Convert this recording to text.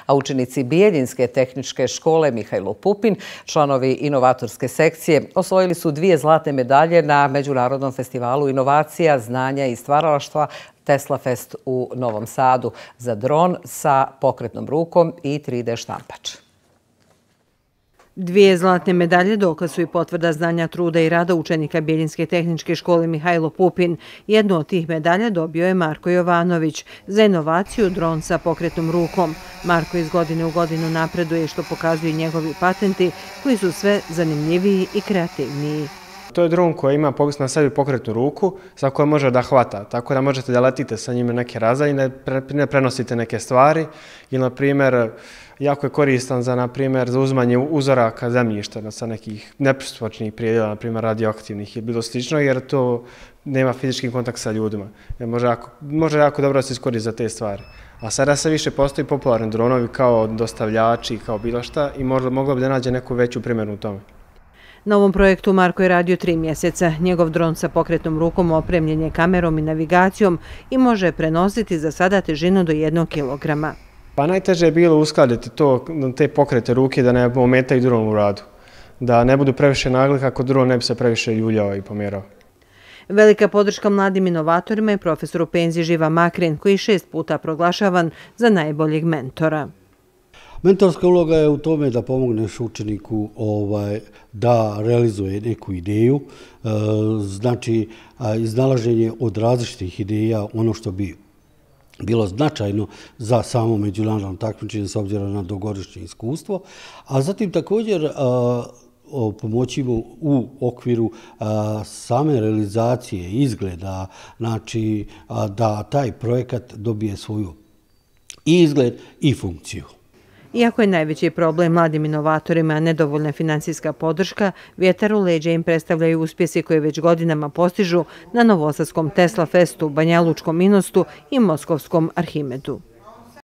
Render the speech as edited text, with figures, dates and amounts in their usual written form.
a učenici Bijeljinske tehničke škole Mihajlo Pupin, članovi inovatorske sekcije, osvojili su 2 zlatne medalje na Međunarodnom festivalu inovacija, znanja i stvaralaštva Tesla Fest u Novom Sadu za dron sa pokretnom rukom i 3D štampač. 2 zlatne medalje dokaz su i potvrda znanja, truda i rada učenika Bijeljinske tehničke škole Mihajlo Pupin. Jednu od tih medalja dobio je Marko Jovanović za inovaciju dron sa pokretnom rukom. Marko iz godine u godinu napreduje, što pokazuju njegovi patenti koji su sve zanimljiviji i kreativniji. To je dron koji ima na sebi pokretnu ruku sa kojom može da hvata, tako da možete da letite sa njime neke razdaljine, ne prenosite neke stvari ili, na primjer, jako je koristan za uzimanje uzoraka zemljišta sa nekih nepristupačnih predjela, na primjer radioaktivnih ili bilo slično, jer to nema fizički kontakt sa ljudima. Može jako dobro da se iskoristi za te stvari. A sada se više postoji popularni dronovi kao dostavljači, kao bilo šta i moglo bi da nađe neku veću primjenu u tome. Na ovom projektu Marko je radio 3 mjeseca. Njegov dron sa pokretnom rukom opremljen je kamerom i navigacijom i može prenositi za sada težinu do 1 kilograma. Pa najteže je bilo uskladiti te pokrete ruke da ne ometaju dron u radu. Da ne budu previše nagli kako dron ne bi se previše ljuljao i pomjerao. Velika podrška mladim inovatorima je profesor u penziji Živa Makrin, koji 6 puta proglašavan za najboljeg mentora. Mentorska uloga je u tome da pomogneš učeniku da realizuje neku ideju, znači iznalaženje od različitih ideja, ono što bi bilo značajno za samo međunarodno takmičenje s obzirom na dugogodišnje iskustvo, a zatim također pomoći mu u okviru same realizacije izgleda, znači da taj projekat dobije svoju i izgled i funkciju. Iako je najveći problem mladim inovatorima nedovoljna financijska podrška, vjetar u leđa im predstavljaju uspjesi koje već godinama postižu na novosadskom Tesla Festu, Banjalučkom Inostu i moskovskom Arhimedu.